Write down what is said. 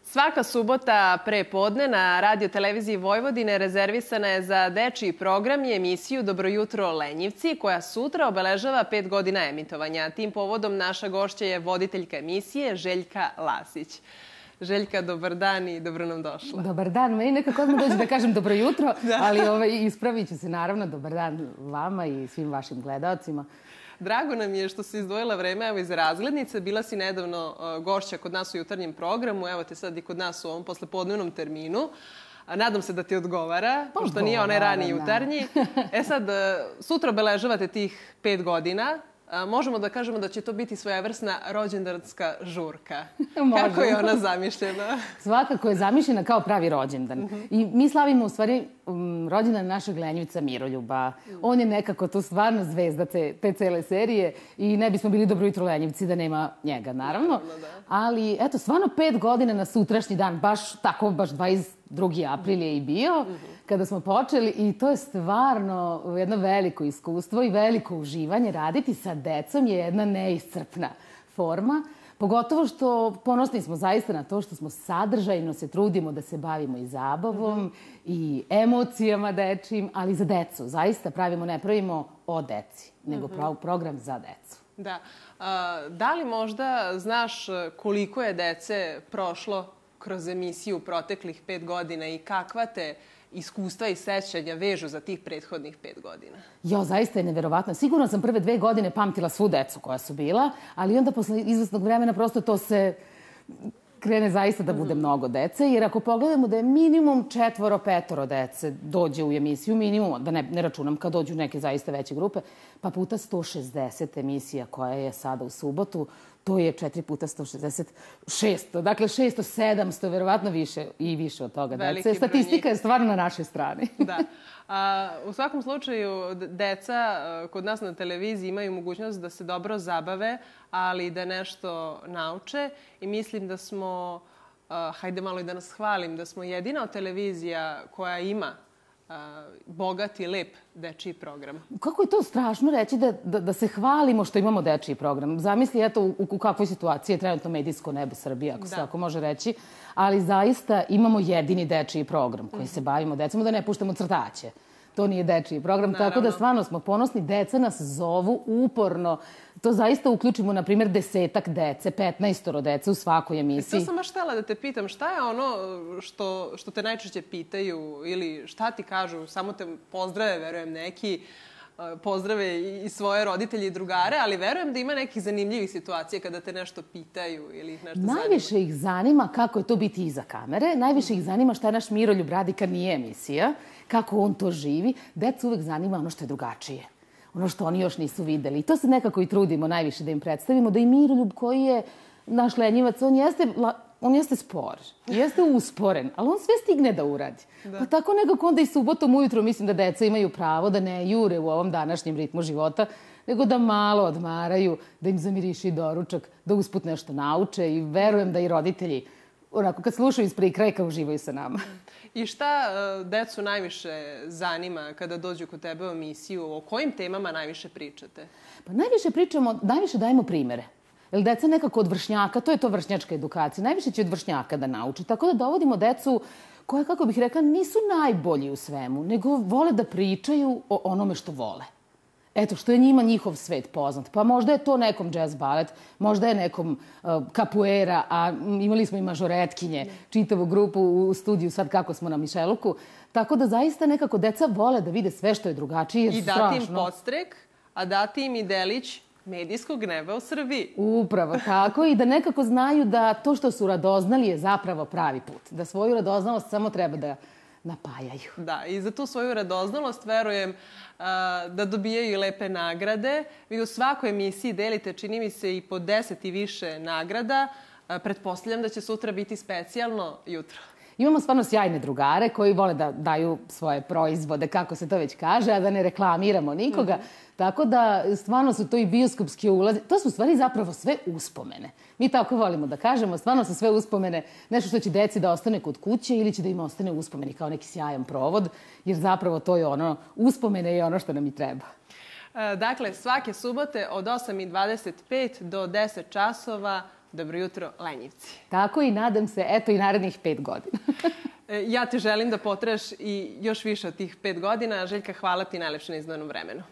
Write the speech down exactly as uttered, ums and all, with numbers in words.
Svaka subota pre podne na Radio televiziji Vojvodine rezervisana je za dečiji program i emisiju Dobro jutro Lenjivci, koja sutra obeležava pet godina emitovanja. Tim povodom naša gošća je voditeljka emisije Željka Lasić. Željka, dobar dan i dobro nam došla. Dobar dan. Meni nekako odmah dođe da kažem dobro jutro, ali ispravit ću se naravno. Dobar dan vama i svim vašim gledalcima. Drago nam je što si izdvojila vreme evo iz razglednice. Bila si nedavno gošća kod nas u jutarnjem programu. Evo te sad i kod nas u ovom poslepodnevnom terminu. Nadam se da ti odgovara, pošto nije onaj rani jutarnji. E sad, sutra obeležavate tih pet godina. Možemo da kažemo da će to biti svojevrsna rođendanska žurka. Kako je ona zamišljena? Svakako je zamišljena kao pravi rođendan. I mi slavimo u stvari rođendan našeg Lenjivca Miroljuba. On je nekako tu stvarno zvezda te cele serije i ne bismo bili Dobro jutro Lenjivci da nema njega, naravno. Ali eto, stvarno pet godina na sutrašnji dan, baš tako, baš dvadeset drugi april je i bio kada smo počeli i to je stvarno jedno veliko iskustvo i veliko uživanje. Raditi sa decom je jedna neiscrpna forma, pogotovo što ponosni smo zaista na to što smo sadržajno se trudimo da se bavimo i zabavom i emocijama dečijim, ali za decu. Zaista pravimo, ne pravimo o deci, nego program za decu. Da. Da li možda znaš koliko je dece prošlo kroz emisiju proteklih pet godina i kakva te iskustva i sećanja vežu za tih prethodnih pet godina? Jo, zaista je neverovatno. Sigurno sam prve dve godine pamtila svu decu koja su bila, ali onda posle izvesnog vremena prosto to se krene zaista da bude mnogo dece, jer ako pogledamo da je minimum četvoro, petoro dece dođe u emisiju, minimum, da ne računam kad dođu neke zaista veće grupe, pa puta sto šezdeset emisija koja je sada u subotu, to je četiri puta sto šezdeset, šesto. Dakle, šesto, sedamsto, verovatno više i više od toga dece. Statistika je stvarno na našoj strani. Da. U svakom slučaju, deca kod nas na televiziji imaju mogućnost da se dobro zabave, ali da nešto nauče. I mislim da smo, hajde malo i da nas hvalim, da smo jedina televizija koja ima bogat i lep dečiji program. Kako je to strašno reći da se hvalimo što imamo dečiji program. Zamisli, eto, u kakvoj situaciji je trenutno medijsko nebo Srbije, ako se tako može reći, ali zaista imamo jedini dečiji program koji se bavimo decom, da ne puštamo crtaće. To nije dečiji program, tako da stvarno smo ponosni. Deca nas zovu uporno. To zaista uključimo, na primjer, desetak dece, petnaestoro dece u svakoj emisiji. To sam baš htjela da te pitam, šta je ono što te najčešće pitaju ili šta ti kažu, samo te pozdrave, verujem, neki, pozdrave i svoje roditelje i drugare, ali verujem da ima nekih zanimljivih situacija kada te nešto pitaju ili ih nešto zanima. Najviše ih zanima kako je to biti iza kamere, najviše ih zanima šta naš Miroljub radi kad nije emisija, kako on to živi. Decu uvek zanima ono što je drugačije, ono što oni još nisu videli. I to se nekako i trudimo najviše da im predstavimo, da i Miroljub koji je naš Lenjivac, on jeste... On jeste spor, jeste usporen, ali on sve stigne da uradi. Pa tako nekako onda i subotom ujutro mislim da deca imaju pravo da ne jure u ovom današnjem ritmu života, nego da malo odmaraju, da im zamiriši doručak, da usput nešto nauče i verujem da i roditelji, onako kad slušaju iz prikrajka, uživaju sa nama. I šta decu najviše zanima kada dođu kod tebe u emisiju? O kojim temama najviše pričate? Pa najviše pričamo, najviše dajemo primere. Jer deca nekako od vršnjaka, to je to vršnjačka edukacija, najviše će od vršnjaka da nauči. Tako da dovodimo decu koje, kako bih rekla, nisu najbolji u svemu, nego vole da pričaju o onome što vole. Eto, što je njima njihov svet poznat. Pa možda je to nekom jazz balet, možda je nekom kapuera, a imali smo i mažoretkinje, čitavu grupu u studiju sad kako smo na Mišeluku. Tako da zaista nekako deca vole da vide sve što je drugačije, jer su strašno. I dati im podstrek, a dati im i delić medijskog neba u Srbiji. Upravo tako, i da nekako znaju da to što su radoznali je zapravo pravi put. Da svoju radoznalost samo treba da napajaju. Da, i za tu svoju radoznalost verujem da dobijaju i lepe nagrade. Vi u svakoj emisiji delite, čini mi se, i po deset i više nagrada. Pretpostavljam da će sutra biti specijalno jutro. Imamo stvarno sjajne drugare koji vole da daju svoje proizvode, kako se to već kaže, a da ne reklamiramo nikoga. Tako da stvarno su to i bioskopski ulazi. To su stvari zapravo sve uspomene. Mi tako volimo da kažemo, stvarno su sve uspomene, nešto što će deci da ostane kod kuće ili će da im ostane uspomeni kao neki sjajan provod, jer zapravo to je ono, uspomene je ono što nam i treba. Dakle, svake subote od osam i dvadeset pet do deset časova Dobro jutro, Lenjivci. Tako i nadam se, eto i narednih pet godina. Ja ti želim da potraš i još više od tih pet godina. Željka, hvala ti najlepše na izdvojenom vremenu.